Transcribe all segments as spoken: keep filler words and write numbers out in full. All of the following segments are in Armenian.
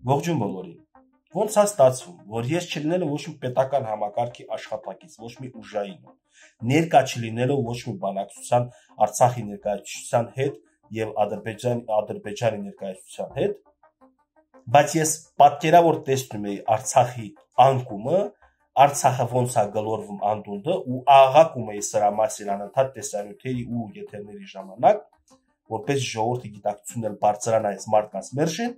Ողջույն բոլորին։ Ոնց է ստացվում, որ ես չլինելով ոչ մի պետական համակարգի աշխատակից, ոչ մի ուժային, ներկա չլինելով ոչ մի բանակցության Արցախի ներկայացության հետ եւ Ադրբեջանի Ադրբեջանի ներկայացության հետ, բայց ես պատկերավոր տեսնում եի Արցախի անկումը, Արցախը ոնց է գլորվում անդունդը ու աղաղակում էի սրա մասին անընդհատ տեսանյութերի ու եթերների ժամանակ, որպես ժողովրդի գիտակցությունն էլ բարձրանա այս մարդկանց մերժին,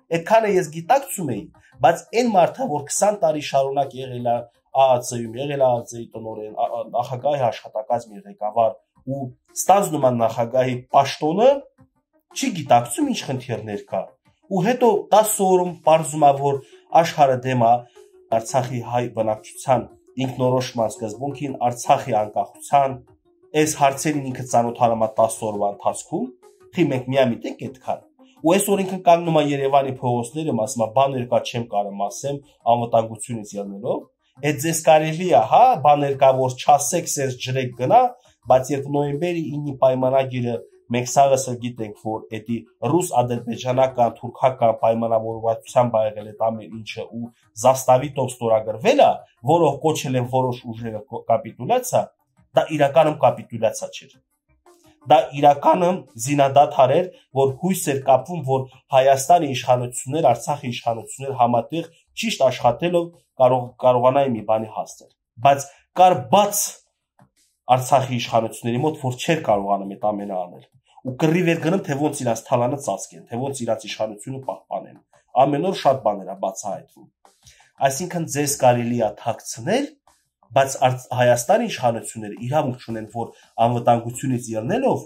այդքանը ես գիտակցում էի, բայց այն մարդը, որ քսան տարի շարունակ եղել է ԱԱՑ-ում, եղել է ԱԱՑ-ի տնօրեն, նախագահի աշխատակազմի ղեկավար ու ստանձնում է նախագահի պաշտոնը, չի գիտակցում ինչ խնդիրներ կա։ Ու հետո տասը օրում պարզում է, որ աշխարհը դեմ է Արցախի հայ բնակչության ինքնորոշման սկզբունքին, Արցախի անկախության, այս հարցերին ինքը ծանոթանում է տասը օրվա ընթացքում, խի մենք միամիտ ենք այդքան։ Ու այսօր ինքը կանգնում է Երևանի փողոցներում, ասում է բաներ կա չեմ կարող ասեմ, անվտանգությունից ելնելով, այդ ձեզ կարելի է, հա, բաներ կա որ չասեք, սենց ջրեք գնա, բայց երբ նոյեմբերի ինը պայմանագիրը մենք սաղս էլ գիտենք, որ էդի ռուս-ադրբեջանական, թուրքական պայմանավորվածությամբ ա եղել այդ ամեն ինչը ու զաստավիտով ստորագրվել է, որով կոչել են որոշ ուժերը կապիտուլյացիա, դա իրականում կապիտուլյացիա չէր։ Դա իրականում զինադադար էր, որ հույս էր կապվում, որ Հայաստանի իշխանություններ, Արցախի իշխանություններ համատեղ ճիշտ աշխատելով կարող կարողանային մի բանի հասնել։ Բայց կար բաց Արցախի իշխանությունների մոտ, որ չէր կարողանում այդ ամենը անել։ Ու կռիվ էր գնում, թե ոնց իրաց թալանը ծածկեն, թե ոնց իրաց իշխանությունը պահպանեն։ Ամեն օր շատ բաներ է բացահայտվում։ Այսինքն ձեզ կարելի է թաքցնել, բայց Հայաստանի իշխանությունները իրավունք չունեն, որ անվտանգությունից ելնելով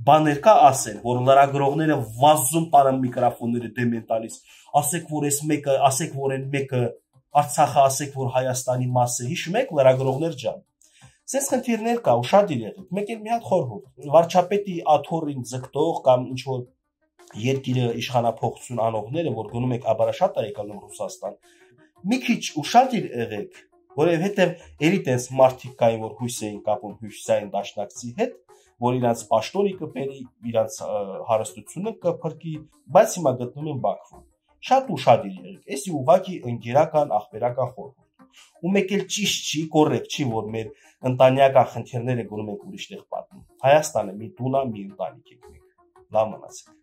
բաներ կա ասեն, որ լրագրողները վազում տանեն միկրոֆոնները դեմ են տալիս, ասեք, որ այս մեկը, ասեք, որ այն մեկը Արցախը, ասեք, որ Հայաստանի մաս է, հիշում եք լրագրողներ ջան։ Սենց խնդիրներ կա ու շատ եղեք։ Մեկ էլ մի հատ խորհուրդ։ Վարչապետի աթոռին ձգտող կամ ինչ որ երկիրը իշխանափոխություն անողները, որ գնում եք աբարաշատ եք անում Ռուսաստան, մի քիչ ուշադիր եղեք, որովհետև էլի տես մարդիկ կային, որ հույս էին կապում հյուսիսային դաշնակցի հետ, որ իրանց պաշտոնի կպերի, իրանց հարստությունը կփրկի, բայց հիմա գտնվում են Բաքվում։ Շատ ուշադիր եղեք, էսի ուղղակի ընկերական, ախպերական խորհուրդ։ Ու մեկ էլ ճիշտ չի, կոռեկտ չի, որ մեր ընտանեկան խնդիրները գնում ենք ուրիշ տեղ պատմում։ Հայաստանը մի տուն է, մի ընտանիք եք մենք։ Լավ մնացեք։